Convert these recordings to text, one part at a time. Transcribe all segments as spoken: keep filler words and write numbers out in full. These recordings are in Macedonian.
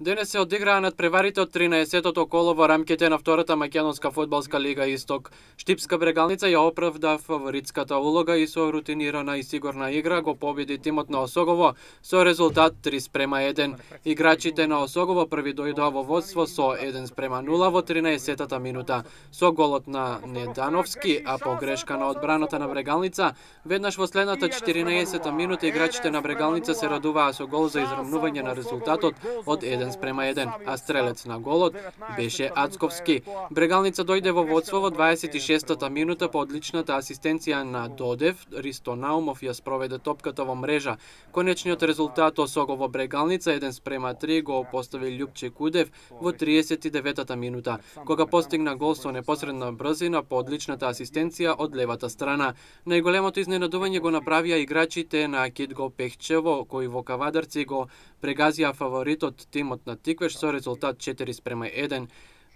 Денес се одиграа надпреварите од тринаесеттото коло во рамките на втората македонска фудбалска лига Исток. Штипска Брегалница ја оправда фаворитската улога и со рутинирана и сигурна игра го победи тимот на Осогово со резултат три спрема еден. Играчите на Осогово први дојдоа во водство со еден спрема нула во тринаесеттата минута. Со голот на Недановски, а по грешка на одбраната на Брегалница, веднаш во следната четиринаесета минута играчите на Брегалница се радуваа со гол за израмнување на резултатот од еден спрема еден, а стрелец на голот беше Ацковски. Брегалница дојде во водство во дваесет и шестата минута по одличната асистенција на Додев. Ристо Наумов ја спроведе топката во мрежа. Конечниот резултат Осогово Брегалница еден спрема три го постави Љупче Кудев во триесет и деветата минута, кога постигна гол со непосредна брзина по одличната асистенција од левата страна. Најголемото изненадување го направија играчите на Кидго Пехчево, кои во Кавадарци го прегазија фаворитот тимот на Тиквеш со резултат четири спрема еден.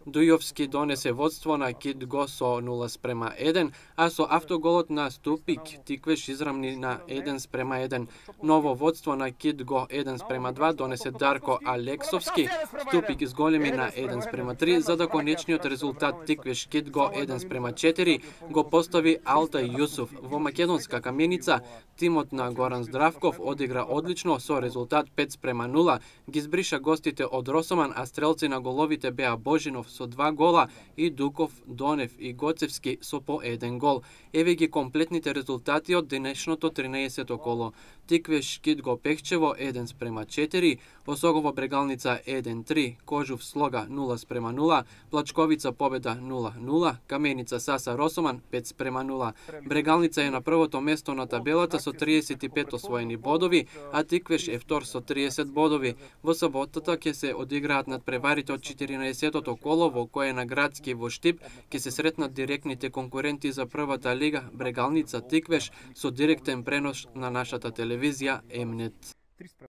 Дујовски донесе водство на Кидго со нула спрема еден, а со автоголот на Ступик Тиквеш израмни на еден спрема еден. Ново водство на Кидго еден спрема два донесе Дарко Алексовски. Ступик изголеми на еден спрема три, за да конечниот резултат Тиквеш Кидго еден спрема четири го постави Алтай Јусуф. Во македонска каменица тимот на Горан Здравков одигра одлично со резултат пет спрема нула, ги збриша гостите од Росоман, а стрелци на головите беа Божинов со два гола и Дуков, Донев и Гоцевски со по еден гол. Еве ги комплетните резултати од денешното тринаесетто коло. Тиквеш Кидго Пехчево еден спрема четири, Осогово Брегалница еден три, Кожув Слога нула спрема нула, Плачковица победа нула нула, Каменица Саса Росоман пет спрема нула. Брегалница е на првото место на табелата со триесет и пет освоени бодови, а Тиквеш е втор со триесет бодови. Во саботата ќе се одиграат надпреварите од четиринаесеттото коло, во кое на Градски во Штип ќе се сретнат директните конкуренти за првата лига Брегалница Тиквеш со директен пренос на нашата телевизија Емнет.